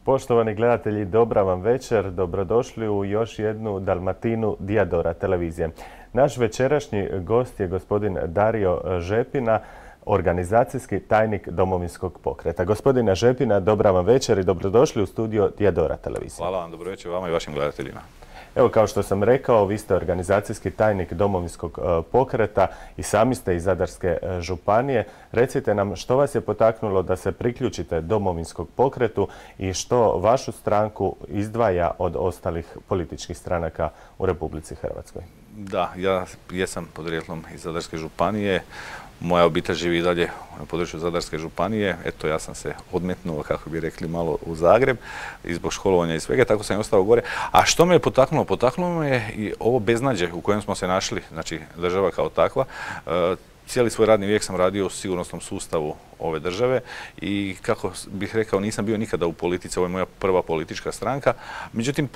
Poštovani gledatelji, dobra vam večer. Dobrodošli u još jednu Dalmatinu Dijadora televizije. Naš večerašnji gost je gospodin Dario Žepina, organizacijski tajnik Domovinskog pokreta. Gospodine Žepina, dobra vam večer i dobrodošli u studio Dijadora televizije. Hvala vam, dobro večer vama i vašim gledateljima. Evo, kao što sam rekao, vi ste organizacijski tajnik Domovinskog pokreta i sami ste iz Zadarske županije. Recite nam što vas je potaknulo da se priključite Domovinskom pokretu i što vašu stranku izdvaja od ostalih političkih stranaka u Republici Hrvatskoj. Da, ja jesam podrijetlom iz Zadarske županije. Moja obitelj živi i dalje na području Zadarske županije. Eto, ja sam se odmetnuo, kako bi rekli, malo u Zagreb i zbog školovanja i svega, tako sam i ostao gore. A što me je potaknulo? Potaknulo me je i ovo beznađe u kojem smo se našli, znači država kao takva. Cijeli svoj radni vijek sam radio u sigurnosnom sustavu ove države i kako bih rekao, nisam bio nikada u politici, ovo je moja prva politička stranka. Međutim,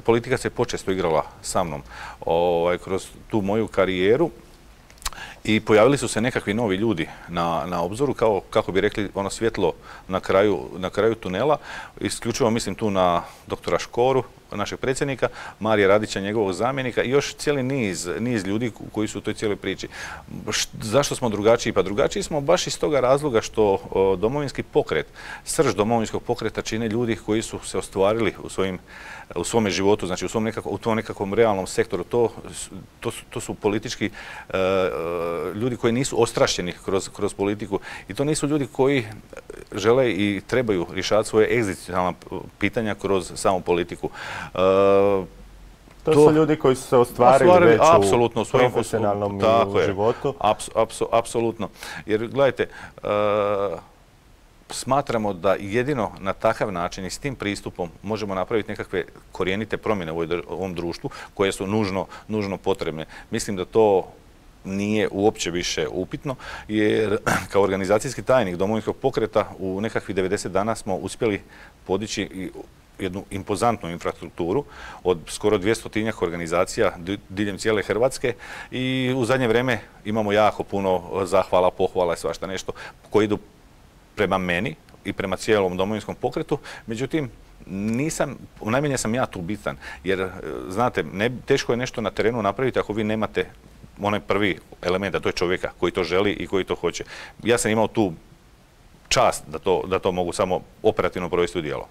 politika se počesto igrala sa mnom kroz tu moju karijeru. I pojavili su se nekakvi novi ljudi na obzoru, kao, kako bi rekli, ono svjetlo na kraju tunela. Isključivo mislim tu na doktora Škoru, našeg predsjednika, Marija Radića, njegovog zamjenika i još cijeli niz ljudi koji su u toj cijeloj priči. Zašto smo drugačiji? Pa drugačiji smo baš iz toga razloga što Domovinski pokret, srž Domovinskog pokreta čine ljudi koji su se ostvarili u svome životu, znači u tom nekakvom realnom sektoru. To su politički ljudi koji nisu ostrašćeni kroz politiku i to nisu ljudi koji žele i trebaju rješavati svoje egzistencijalna pitanja kroz samu politiku. To su ljudi koji su se ostvarili već u profesionalnom životu. Apsolutno. Jer gledajte, smatramo da jedino na takav način i s tim pristupom možemo napraviti nekakve korijenite promjene u ovom društvu koje su nužno potrebne. Mislim da to nije uopće više upitno, jer kao organizacijski tajnik Domovinskog pokreta u nekakvih 90 dana smo uspjeli podići jednu impozantnu infrastrukturu od skoro 200-tinjak organizacija diljem cijele Hrvatske i u zadnje vrijeme imamo jako puno zahvala, pohvala i svašta nešto koji idu prema meni i prema cijelom Domovinskom pokretu. Međutim, najmanje sam ja tu bitan, jer znate, teško je nešto na terenu napraviti ako vi nemate onaj prvi element, a to je čovjeka koji to želi i koji to hoće. Ja sam imao tu čast da to mogu samo operativno provesti u djelo.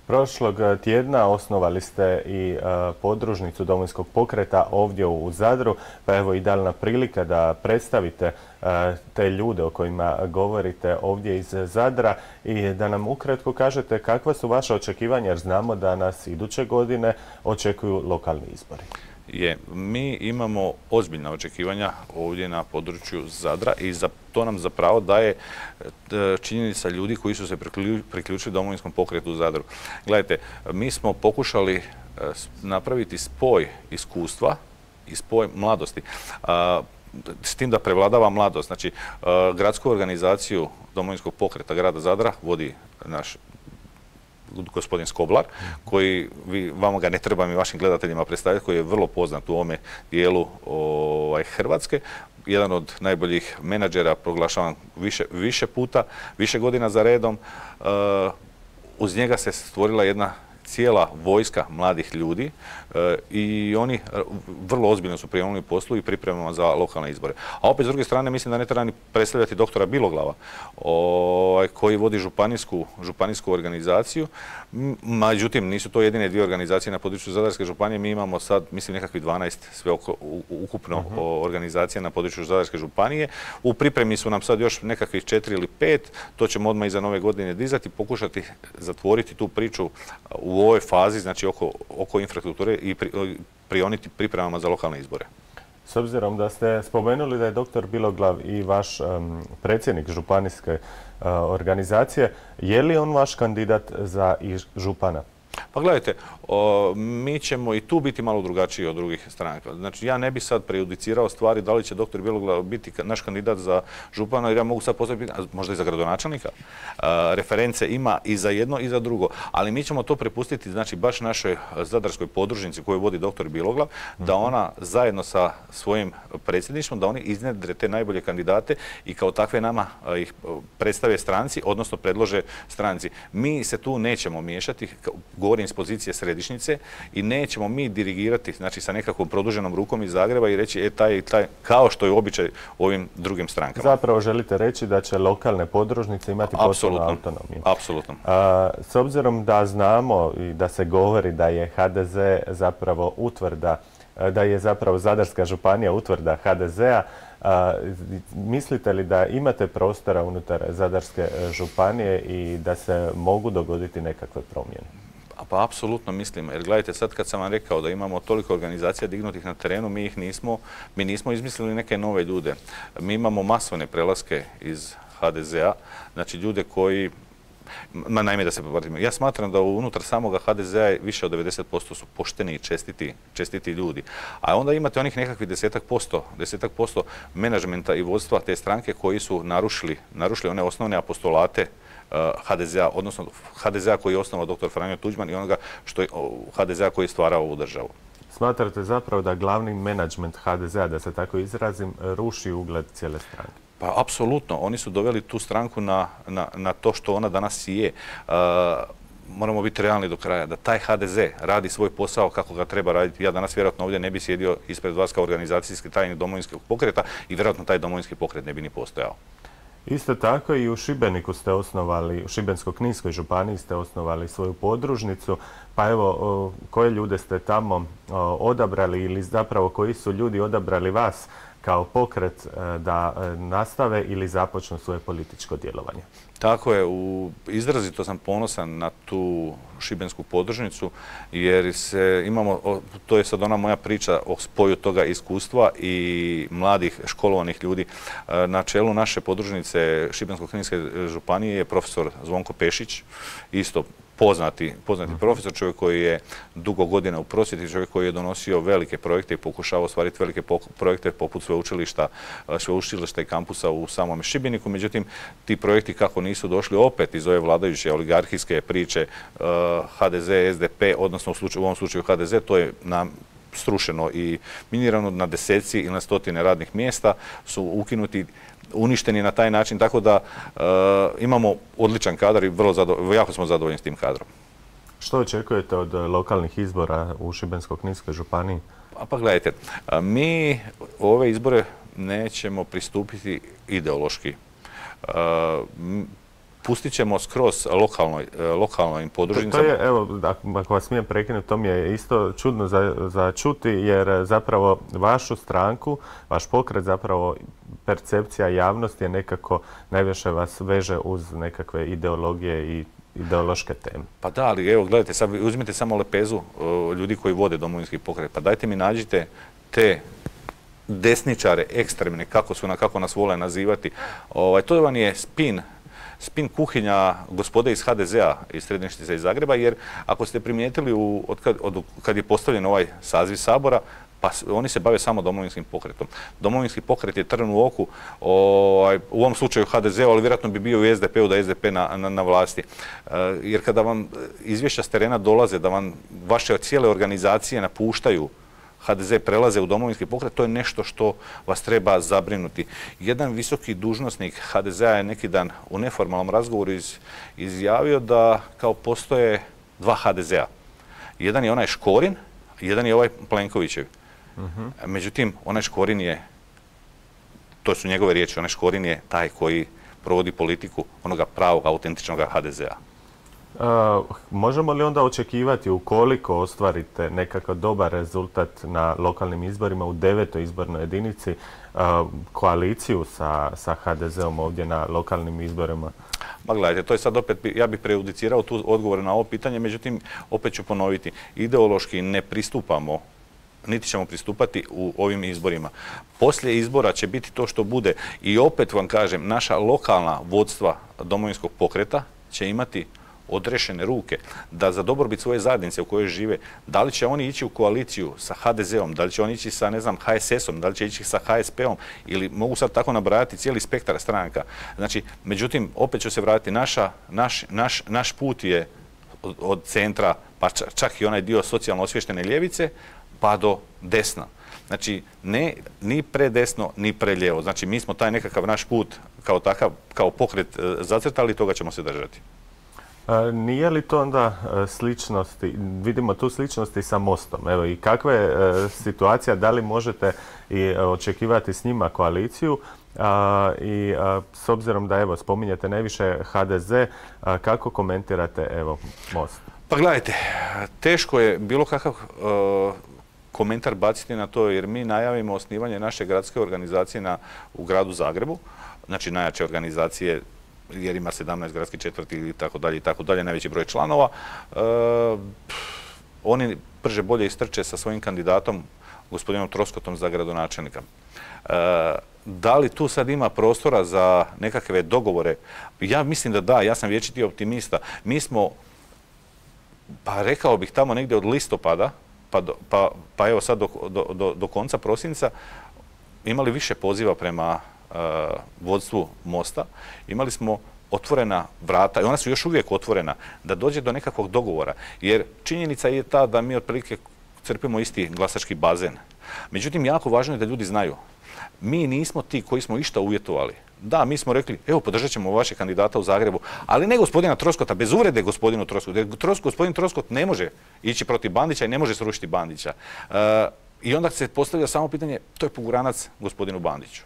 Prošlog tjedna osnovali ste i podružnicu Domovinskog pokreta ovdje u Zadru, pa evo idealna prilika da predstavite te ljude o kojima govorite ovdje iz Zadra i da nam ukratko kažete kakva su vaša očekivanja, jer znamo da nas iduće godine očekuju lokalni izbori. Mi imamo ozbiljna očekivanja ovdje na području Zadra i to nam zapravo daje činjenica ljudi koji su se priključili Domovinskom pokretu u Zadru. Gledajte, mi smo pokušali napraviti spoj iskustva i spoj mladosti. S tim da prevladava mladost. Znači, gradsku organizaciju Domovinskog pokreta grada Zadra vodi naš gospodin Skoblar, koji vama ga ne trebam i vašim gledateljima predstaviti, koji je vrlo poznat u ovome dijelu Hrvatske. Jedan od najboljih menadžera, proglašavan više puta, više godina za redom. Uz njega se stvorila jedna cijela vojska mladih ljudi i oni vrlo ozbiljno su prionuli poslu i pripremama za lokalne izbore. A opet s druge strane mislim da ne treba ni predstavljati doktora Biloglava koji vodi županijsku organizaciju. Međutim, nisu to jedine dvije organizacije na području Zadarske županije. Mi imamo sad, mislim, nekakvih 12 sve ukupno organizacija na području Zadarske županije. U pripremi su nam sad još nekakvih 4 ili 5. To ćemo odmah iza nove godine dizati, pokušati zatvoriti tu priču u ovoj fazi, znači oko infrastrukture i prioniti pripremama za lokalne izbore. S obzirom da ste spomenuli da je doktor Biloglav i vaš predsjednik županijske organizacije, je li on vaš kandidat za župana? Pa gledajte, mi ćemo i tu biti malo drugačiji od drugih stranaka. Znači, ja ne bi sad prejudicirao stvari da li će doktor Bjeloglav biti naš kandidat za župana, jer ja mogu sad postaviti, možda i za gradonačelnika. Reference ima i za jedno i za drugo, ali mi ćemo to prepustiti, znači, baš našoj zadarskoj podružnici koju vodi doktor Bjeloglav, da ona zajedno sa svojim predsjedništvom, da oni iznjedre te najbolje kandidate i kao takve nama ih predstave stranci, odnosno predlože stranci. Mi se tu nećemo miješati, govorim iz pozicije središnjice, i nećemo mi dirigirati, znači, sa nekakvom produženom rukom iz Zagreba i reći taj, kao što je običaj ovim drugim strankama. Zapravo želite reći da će lokalne podružnice imati potpunu autonomiju. Apsolutno. S obzirom da znamo i da se govori da je HDZ zapravo utvrda, da je zapravo Zadarska županija utvrda HDZ-a, mislite li da imate prostora unutar Zadarske županije i da se mogu dogoditi nekakve promjene? Pa apsolutno mislim, jer gledajte, sad kad sam vam rekao da imamo toliko organizacija dignutih na terenu, mi nismo izmislili neke nove ljude. Mi imamo masovne prelaske iz HDZ-a, znači ljude koji, naime da se povrtimo, ja smatram da unutar samoga HDZ-a više od 90% su pošteni i čestiti ljudi. A onda imate onih nekakvih 10% menadžmenta i vodstva te stranke koji su narušili one osnovne apostolate HDZ-a, odnosno HDZ-a koji je osnovao dr. Franjo Tuđman i onoga HDZ-a koji je stvarao ovu državu. Smatrate zapravo da glavni menadžment HDZ-a, da se tako izrazim, ruši ugled cijele stranke? Pa apsolutno. Oni su doveli tu stranku na to što ona danas i je. Moramo biti realni do kraja, da taj HDZ radi svoj posao kako ga treba raditi. Ja danas vjerojatno ovdje ne bi sjedio ispred vas kao organizacijski tajnik Domovinskog pokreta i vjerojatno taj Domovinski pokret ne bi ni postojao. Isto tako i u Šibeniku ste osnovali, u Šibensko-kninskoj županiji ste osnovali svoju podružnicu. Pa evo, koje ljude ste tamo odabrali ili zapravo koji su ljudi odabrali vas kao pokret da nastave ili započnu svoje političko djelovanje? Tako je, izrazito sam ponosan na tu šibensku podružnicu jer to je sad ona moja priča o spoju toga iskustva i mladih školovanih ljudi. Na čelu naše podružnice Šibensko-kninske županije je profesor Zvonko Pešić, isto poznati profesor, čovjek koji je dugo godina u prosvjeti, čovjek koji je donosio velike projekte i pokušao ostvariti velike projekte poput sveučilišta i kampusa u samom Šibeniku. Međutim, ti projekti kako nisu došli opet iz ove vladajuće oligarhijske priče HDZ, SDP, odnosno u ovom slučaju HDZ, to je srušeno i minirano na deseci ili na stotine radnih mjesta, su ukinuti, uništeni na taj način, tako da imamo odličan kadar i jako smo zadovoljni s tim kadrom. Što očekujete od lokalnih izbora u Šibensko-kninskoj županiji? Pa gledajte, mi ove izbore nećemo pristupiti ideološki. Pustit ćemo skroz lokalnoj podružnicama. To je, evo, ako vas smijem prekinuti, to mi je isto čudno za čuti, jer zapravo vašu stranku, vaš pokret, zapravo percepcija javnosti je nekako najviše vas veže uz nekakve ideologije i ideološke teme. Pa da, ali evo, gledajte, sad uzmite samo lepezu ljudi koji vode Domovinski pokret. Pa dajte mi nađite te desničare, ekstremne, kako nas vole nazivati. To vam je spin kuhinja gospode iz HDZ-a, iz središnjice iz Zagreba, jer ako ste primijetili kad je postavljen ovaj saziv Sabora, pa oni se bave samo Domovinskim pokretom. Domovinski pokret je trn u oku, u ovom slučaju HDZ-u, ali vjerojatno bi bio u SDP-u da je SDP na vlasti. Jer kada vam izvješća s terena dolaze, da vam vaše cijele organizacije napuštaju HDZ, prelaze u Domovinski pokret, to je nešto što vas treba zabrinuti. Jedan visoki dužnosnik HDZ-a je neki dan u neformalnom razgovoru izjavio da kao postoje dva HDZ-a. Jedan je onaj Škorin, jedan je ovaj Plenkovićev. Međutim, onaj Škorin je, to su njegove riječi, onaj Škorin je taj koji provodi politiku onoga pravog, autentičnog HDZ-a. Možemo li onda očekivati, ukoliko ostvarite nekakav dobar rezultat na lokalnim izborima u 9. izbornoj jedinici, koaliciju sa HDZ-om ovdje na lokalnim izborima? Ma gledajte, to je sad opet, ja bih prejudicirao tu odgovor na ovo pitanje, međutim, opet ću ponoviti, ideološki ne pristupamo, niti ćemo pristupati u ovim izborima. Poslije izbora će biti to što bude i opet vam kažem, naša lokalna vodstva Domovinskog pokreta će imati odrešene ruke, da za dobrobit svoje zajednice u kojoj žive, da li će oni ići u koaliciju sa HDZ-om, da li će oni ići sa, ne znam, HSS-om, da li će ići sa HSP-om, ili mogu sad tako nabrajati cijeli spektar stranaka. Znači, međutim, opet ću se vratiti, naš put je od centra, pa čak i onaj dio socijalno osviještene ljevice, pa do desna. Znači, ne ni predesno, ni prelijevo. Znači, mi smo taj nekakav naš put kao takav, kao pokret zacrtali i toga ćemo se držati. Nije li to onda sličnosti, vidimo tu sličnosti sa Mostom, evo i kakva je situacija, da li možete i očekivati s njima koaliciju i s obzirom da evo spominjete najviše HDZ, kako komentirate evo Most? Pa gledajte, teško je bilo kakav komentar baciti na to jer mi najavimo osnivanje naše gradske organizacije u gradu Zagrebu, znači najjače organizacije jer ima 17 gradskih četvrti i tako dalje, najveći broj članova. Oni brže bolje istrče sa svojim kandidatom, gospodinom Troskotom, za gradonačelnika. Da li tu sad ima prostora za nekakve dogovore? Ja mislim da da, ja sam vječiti optimista. Mi smo, pa rekao bih tamo negdje od listopada, pa evo sad do konca prosinca, imali više poziva prema vodstvu Mosta. Imali smo otvorena vrata i ona su još uvijek otvorena da dođe do nekakvog dogovora. Jer činjenica je ta da mi otprilike crpimo isti glasački bazen. Međutim, jako važno je da ljudi znaju. Mi nismo ti koji smo išta uvjetovali. Da, mi smo rekli, evo, podržat ćemo vaše kandidata u Zagrebu, ali ne gospodina Troskota, bez uvrede gospodinu Troskotu. Gospodin Troskot ne može ići protiv Bandića i ne može srušiti Bandića. I onda se postavlja samo pitanje, to je poguranac gospodinu Bandiću.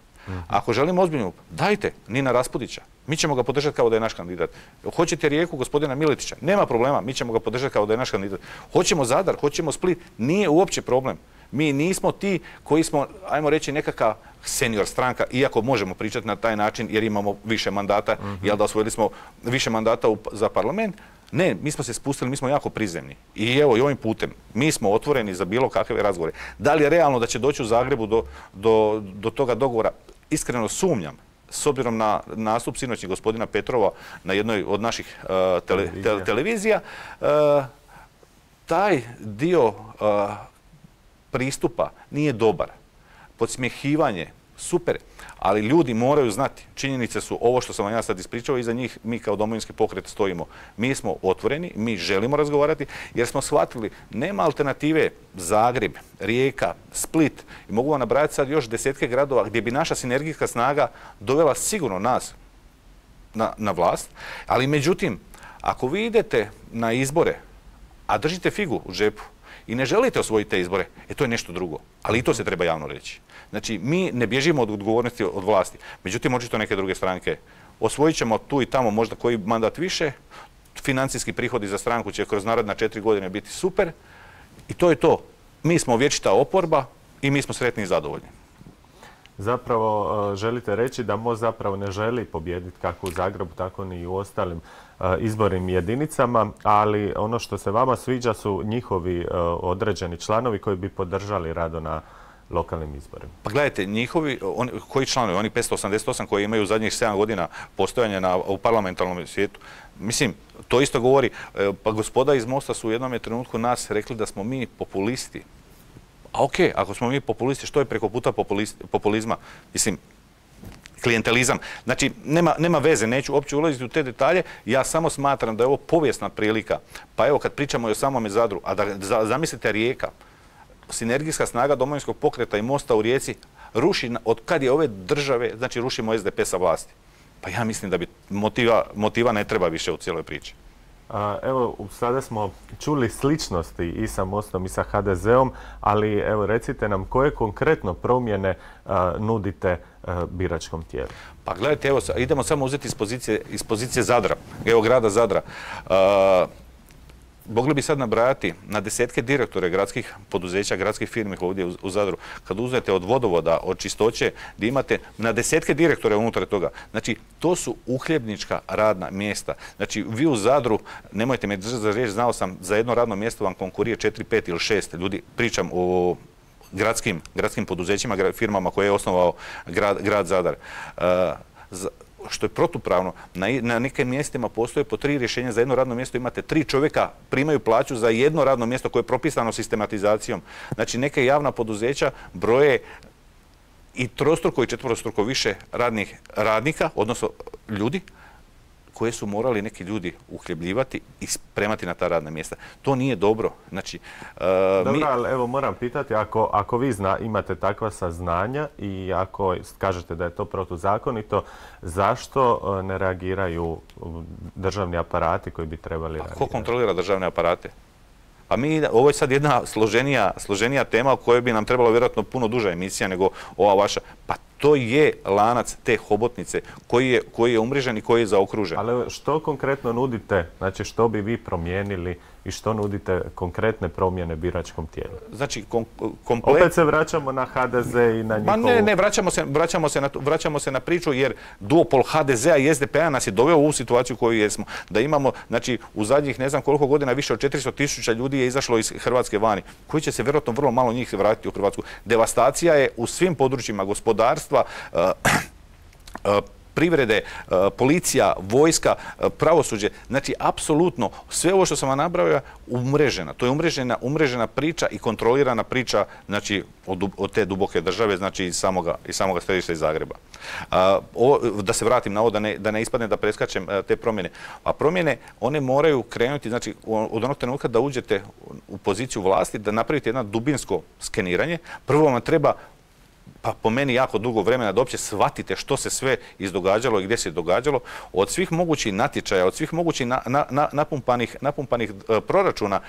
Ako želimo ozbiljnu, dajte Nina Raspudića. Mi ćemo ga podržati kao da je naš kandidat. Hoćete Rijeku, gospodina Miletića? Nema problema, mi ćemo ga podržati kao da je naš kandidat. Hoćemo Zadar, hoćemo Split, nije uopće problem. Mi nismo ti koji smo, ajmo reći, nekakva senior stranka, iako možemo pričati na taj način jer imamo više mandata, jel da osvojili smo više mandata za parlament. Ne, mi smo se spustili, mi smo jako prizemni. I evo, i ovim putem, mi smo otvoreni za bilo kakve razgovore. Da li je realno da će doći u Zagrebu do toga dogovora? Iskreno sumnjam, s obzirom na nastup sinoćnjeg gospodina Petrova na jednoj od naših televizija, taj dio pristupa nije dobar. Podsmjehivanje, super, ali ljudi moraju znati. Činjenice su ovo što sam vam ja sad ispričao i za njih mi kao Domovinski pokret stojimo. Mi smo otvoreni, mi želimo razgovarati jer smo shvatili nema alternative Zagreb, Rijeka, Split i mogu vam nabrajati sad još desetke gradova gdje bi naša sinergijska snaga dovela sigurno nas na vlast, ali međutim, ako vi idete na izbore, a držite figu u džepu, i ne želite osvojiti te izbore, to je nešto drugo. Ali i to se treba javno reći. Znači, mi ne bježimo od odgovornosti od vlasti. Međutim, očito neke druge stranke osvojit ćemo tu i tamo možda koji mandat više, financijski prihodi za stranku će kroz naredna 4 godine biti super i to je to. Mi smo vječita oporba i mi smo sretni i zadovoljni. Zapravo želite reći da Most zapravo ne želi pobijediti kako u Zagrebu, tako ni u ostalim izbornim jedinicama, ali ono što se vama sviđa su njihovi određeni članovi koji bi podržali rado na lokalnim izborima. Pa gledajte, njihovi, koji članovi, oni 588 koji imaju zadnjih 7 godina postojanja u parlamentarnom svijetu, mislim, to isto govori, pa gospoda iz Mosta su u jednom trenutku nas rekli da smo mi populisti. A okej, ako smo mi populisti, što je preko puta populizma? Mislim, klijentelizam. Znači, nema veze, neću uopće ulaziti u te detalje, ja samo smatram da je ovo povijesna prilika. Pa evo, kad pričamo i o samome Zadru, a da zamislite Rijeka, sinergijska snaga Domovinskog pokreta i Mosta u Rijeci ruši, od kad je ove države, znači rušimo SDP sa vlasti. Pa ja mislim da bi motiva ne treba više u cijeloj priči. Evo, sada smo čuli sličnosti i sa Mostom i sa HDZ-om, ali evo recite nam koje konkretno promjene nudite biračkom tijelu? Pa gledajte, evo, idemo samo uzeti iz pozicije Zadra, evo grada Zadra. Mogli bi sad nabrajati na desetke direktore gradskih poduzeća, gradskih firmi ovdje u Zadru. Kad uzmete od vodovoda, od čistoće, gdje imate na desetke direktore unutar toga. Znači, to su uhljebnička radna mjesta. Znači, vi u Zadru, nemojte me držati za riječ, znao sam, za jedno radno mjesto vam konkurije 4, 5 ili 6 ljudi. Pričam o gradskim poduzećima, firmama koje je osnovao grad Zadar. što je protupravno. Na nekim mjestima postoje po 3 rješenja za jedno radno mjesto, imate 3 čovjeka, primaju plaću za jedno radno mjesto koje je propisano sistematizacijom. Znači, neke javna poduzeća broje i trostruko i četvorostruko više radnika, odnosno ljudi, koje su morali neki ljudi uhljebljivati i spremati na ta radna mjesta. To nije dobro. Znači, dobro, ali evo moram pitati, ako vi imate takva saznanja i ako kažete da je to protuzakonito, zašto ne reagiraju državni aparati koji bi trebali reagirati? Ko kontrolira državne aparate? A ovo je sad jedna složenija tema o kojoj bi nam trebalo vjerojatno puno duža emisija nego ova vaša. Pa to je lanac te hobotnice koji je umrežen i koji je zaokružen. Ali što konkretno nudite, znači što bi vi promijenili i što nudite konkretne promjene biračkom tijelu? Znači, opet se vraćamo na HDZ i na njihovu... Ne, vraćamo se na priču jer duopol HDZ-a i SDP-a nas je doveo u ovu situaciju koju jesmo. Da imamo, znači, u zadnjih ne znam koliko godina više od 400.000 ljudi je izašlo iz Hrvatske vani, koji će se vjerojatno vrlo malo njih vratiti u Hrvatsku. Devastacija je u svim područjima gospodarstva, privrede, policija, vojska, pravosuđe. Znači, apsolutno, sve ovo što sam vam nabrojao umrežena. To je umrežena priča i kontrolirana priča, znači, od te duboke države, znači, iz samoga središta iz Zagreba. Da se vratim na ovo, da ne ispadne da preskačem te promjene. A promjene, one moraju krenuti, znači, od onog trenutka da uđete u poziciju vlasti, da napravite jedno dubinsko skeniranje. Prvo vam treba, pa po meni jako dugo vremena, da uopće shvatite što se sve izdogađalo i gdje se događalo, od svih mogućih natječaja, od svih mogućih napumpanih proračuna,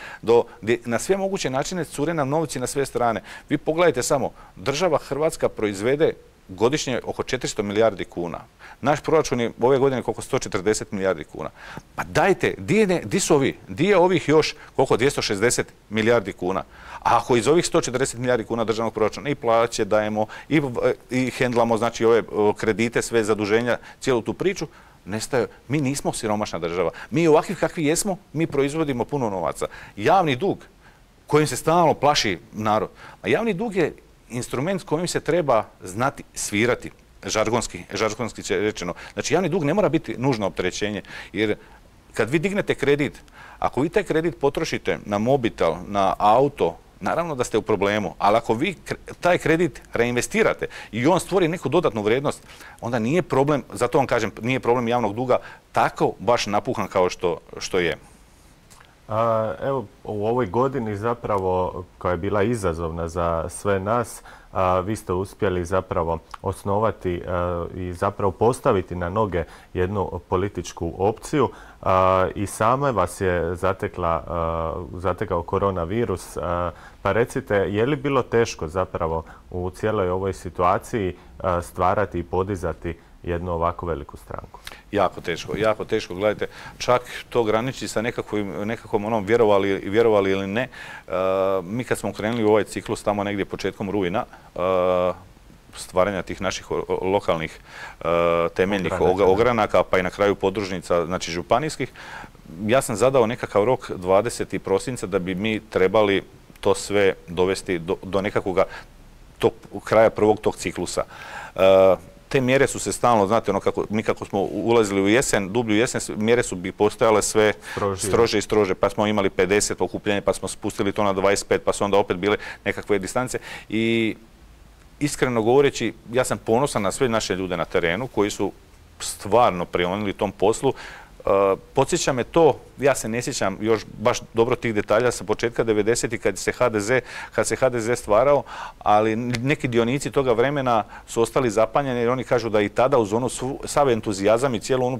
na sve moguće načine cure nam novci na sve strane. Vi pogledajte samo, država Hrvatska proizvede godišnje oko 400 milijardi kuna. Naš proračun je ove godine oko 140 milijardi kuna. Pa dajte, di su ovi? Di je ovih još koliko? 260 milijardi kuna. A ako iz ovih 140 milijardi kuna državnog proračuna i plaće dajemo i hendlamo, znači, ove kredite, sve zaduženja, cijelu tu priču, nestaju. Mi nismo siromašna država. Mi ovakvi kakvi jesmo, mi proizvodimo puno novaca. Javni dug kojim se stalno plaši narod. A javni dug je instrument s kojim se treba znati svirati, žargonski rečeno. Znači, javni dug ne mora biti nužno opterećenje, jer kad vi dignete kredit, ako vi taj kredit potrošite na mobitel, na auto, naravno da ste u problemu, ali ako vi taj kredit reinvestirate i on stvori neku dodatnu vrijednost, onda nije problem, zato vam kažem, nije problem javnog duga tako baš napuhan kao što je. Evo, u ovoj godini zapravo, koja je bila izazovna za sve nas, vi ste uspjeli zapravo osnovati i zapravo postaviti na noge jednu političku opciju i same vas je zatekao koronavirus. Pa recite, je li bilo teško zapravo u cijeloj ovoj situaciji stvarati i podizati jednu ovako veliku stranku? Jako teško. Gledajte, čak to graniči sa nekakvom onom vjerovali ili ne. Mi kad smo krenuli u ovaj ciklus tamo negdje početkom rujna, stvaranja tih naših lokalnih temeljnih ogranaka, pa i na kraju podružnica, znači županijskih, ja sam zadao nekakav rok 20. prosinca da bi mi trebali to sve dovesti do nekakvog kraja prvog tog ciklusa. Te mjere su se stalno, znate, mi kako smo ulazili u jesen, dublju jesen, mjere su bi postojale sve strože i strože, pa smo imali 50 okupljenja, pa smo spustili to na 25, pa su onda opet bile nekakve distance. I iskreno govoreći, ja sam ponosan na sve naše ljude na terenu koji su stvarno prionili tom poslu. Podsjeća me to, ja se ne sjećam još baš dobro tih detalja sa početka 90-ih kad se HDZ stvarao, ali neki dionici toga vremena su ostali zapanjeni jer oni kažu da i tada uz onu sav entuzijazam i cijelu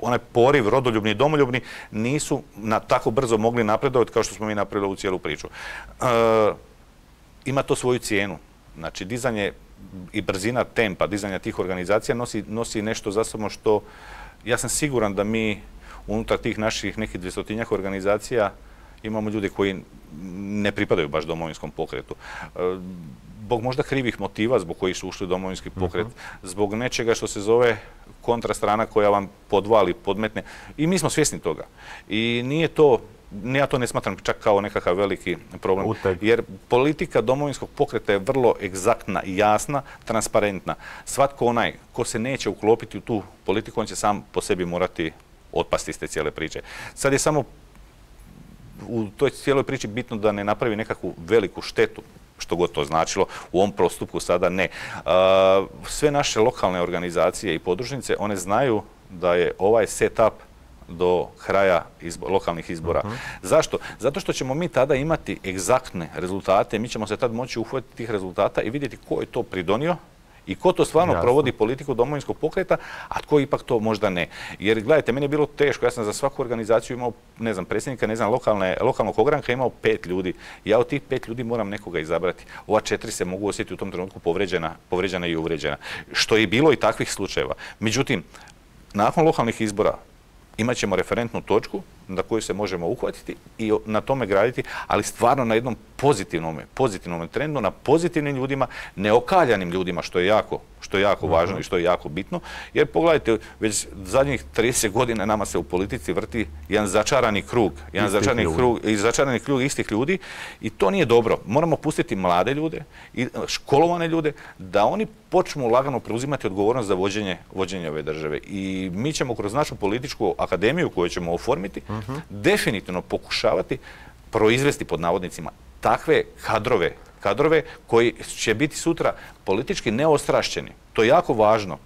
onaj poriv rodoljubni i domoljubni nisu tako brzo mogli napredovati kao što smo mi napravili u cijelu priču. Ima to svoju cijenu. Znači, dizanje i brzina tempa, dizanja tih organizacija nosi nešto za sobom što ja sam siguran da mi unutar tih naših nekih 200-tinjak organizacija imamo ljude koji ne pripadaju baš Domovinskom pokretu. Zbog možda krivih motiva zbog kojih su ušli u Domovinski pokret, zbog nečega što se zove kontrastrana koja vam podvali, podmetne. I mi smo svjesni toga. I nije to ja to ne smatram čak kao nekakav veliki problem. Uteg. Jer politika Domovinskog pokreta je vrlo egzaktna, jasna, transparentna. Svatko onaj ko se neće uklopiti u tu politiku, on će sam po sebi morati otpasti iz te cijele priče. Sad je samo u toj cijeloj priči bitno da ne napravi nekakvu veliku štetu, što god to značilo, u ovom postupku sada ne. Sve naše lokalne organizacije i podružnice, one znaju da je ovaj setup do kraja lokalnih izbora. Zašto? Zato što ćemo mi tada imati egzaktne rezultate, mi ćemo se tad moći uhvatiti tih rezultata i vidjeti ko je to pridonio i ko to stvarno provodi politiku Domovinskog pokreta, a tko ipak to možda ne. Jer gledajte, meni je bilo teško, ja sam za svaku organizaciju imao, ne znam, predsjednika, ne znam, lokalnog ogranka imao 5 ljudi. Ja od tih 5 ljudi moram nekoga izabrati. Ova 4 se mogu osjetiti u tom trenutku povređena i uvređena. Što je bilo i takvih slučajeva. Međutim, nakon lokalnih izbora imat ćemo referentnu točku na koju se možemo uhvatiti i na tome graditi, ali stvarno na jednom pozitivnom trendu, na pozitivnim ljudima, neokaljanim ljudima, što je jako važno i što je jako bitno. Jer pogledajte, već zadnjih 30 godina nama se u politici vrti jedan začarani krug istih ljudi i to nije dobro. Moramo pustiti mlade ljude i školovane ljude da oni počnu lagano preuzimati odgovornost za vođenje ove države. I mi ćemo kroz našu političku akademiju koju ćemo oformiti definitivno pokušavati proizvesti pod navodnicima takve kadrove koji će biti sutra politički neostrašćeni. To je jako važno.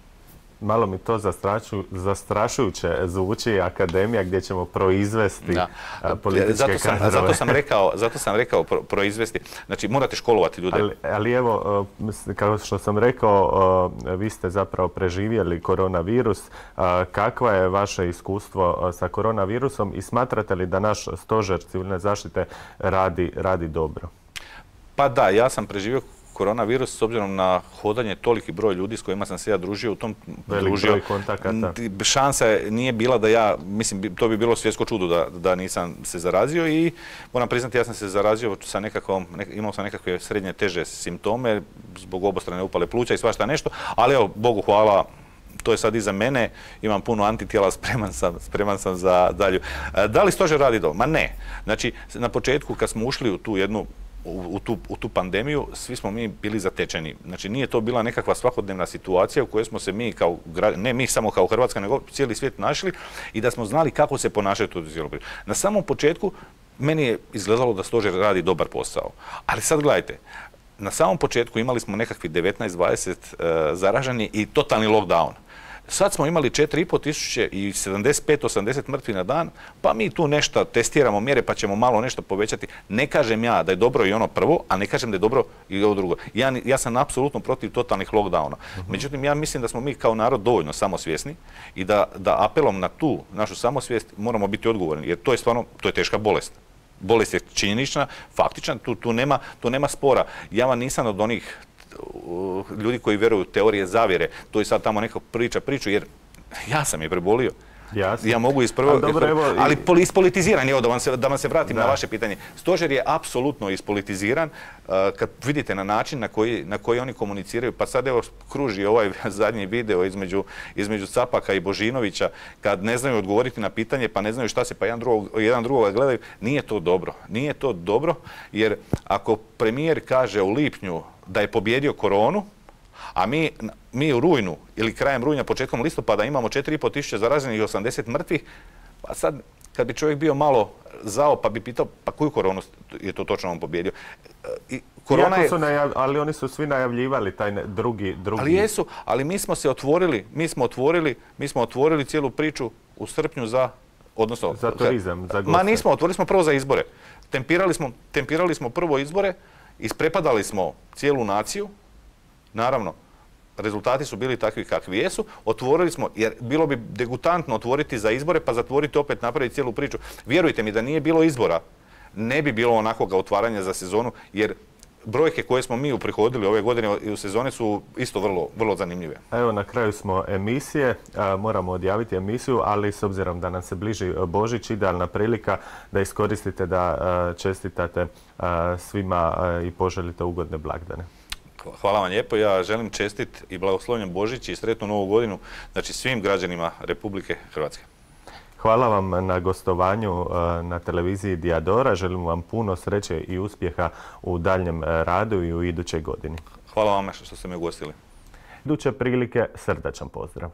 Malo mi to zastrašujuće zvuči, akademija gdje ćemo proizvesti političke kadrove. Zato sam rekao proizvesti. Znači, morate školovati ljude. Ali evo, kao što sam rekao, vi ste zapravo preživjeli koronavirus. Kakvo je vaše iskustvo sa koronavirusom i smatrate li da naš stožer civilne zaštite radi dobro? Pa da, ja sam preživio koronavirus s obzirom na hodanje toliki broj ljudi s kojima sam se ja družio u tom broj kontakata. Šansa nije bila da ja, mislim, to bi bilo svjetsko čudo da nisam se zarazio i moram priznati, ja sam se zarazio sa imao sam nekakve srednje teže simptome zbog obostrane upale pluća i svašta nešto, ali evo, Bogu hvala, to je sad iza mene, imam puno antitijela, spreman sam za dalju. Da li stožer radi dobro? Ma ne. Znači, na početku kad smo ušli u tu pandemiju, svi smo mi bili zatečeni. Znači, nije to bila nekakva svakodnevna situacija u kojoj smo se mi ne mi samo kao Hrvatska, nego cijeli svijet našli i da smo znali kako se ponašati u cijeloj priči. Na samom početku meni je izgledalo da stožer radi dobar posao. Ali sad gledajte, na samom početku imali smo nekakvi 19-20 zaraženi i totalni lockdown. Sad smo imali 4,5 tisuće i 75-80 mrtvi na dan, pa mi tu nešto testiramo mjere pa ćemo malo nešto povećati. Ne kažem ja da je dobro i ono prvo, a ne kažem da je dobro i ovo drugo. Ja sam apsolutno protiv totalnih lockdowna. Međutim, ja mislim da smo mi kao narod dovoljno samosvjesni i da apelom na tu našu samosvijest moramo biti odgovorni, jer to je stvarno, to je teška bolest. Bolest je činjenična, faktična, tu nema spora. Ja vam nisam od onih ljudi koji vjeruju u teorije zavjere, to je sad tamo neka priču, jer ja sam je prebolio. Ja mogu ali ispolitiziran je, da vam se vratim na vaše pitanje. Stožer je apsolutno ispolitiziran, kad vidite na način na koji oni komuniciraju, pa sad evo kruži ovaj zadnji video između Capaka i Božinovića, kad ne znaju odgovoriti na pitanje, pa ne znaju šta se, pa jedan drugoga gledaju, nije to dobro. Nije to dobro, jer ako premijer kaže u lipnju da je pobjedio koronu, a mi u rujnu ili krajem rujna, početkom listopada imamo 4,5 tisuće zaraženih i 80 mrtvih, pa sad kad bi čovjek bio malo zao pa bi pitao pa koju koronu je to točno on pobjedio. Ali oni su svi najavljivali taj drugi... Ali jesu, ali mi smo otvorili cijelu priču u srpnju za turizam, za goste. Ma nismo, otvorili smo prvo za izbore. Tempirali smo prvo izbore, isprepadali smo cijelu naciju. Naravno, rezultati su bili takvi kakvi jesu, otvorili smo, jer bilo bi degutantno otvoriti za izbore pa zatvoriti opet, napraviti cijelu priču. Vjerujte mi da nije bilo izbora, ne bi bilo onakvoga otvaranja za sezonu, jer brojke koje smo mi uprihodili ove godine i u sezone su isto vrlo zanimljive. Evo, na kraju smo emisije, moramo odjaviti emisiju, ali s obzirom da nam se bliži Božić, idealna prilika da iskoristite da čestitate svima i poželite ugodne blagdane. Hvala vam lijepo. Ja želim čestit i blagoslovljen Božić i sretnu Novu godinu, znači svim građanima Republike Hrvatske. Hvala vam na gostovanju na televiziji Diadora. Želim vam puno sreće i uspjeha u daljnjem radu i u idućoj godini. Hvala vam što ste me ugostili. Iduće prilike srdačan pozdrav.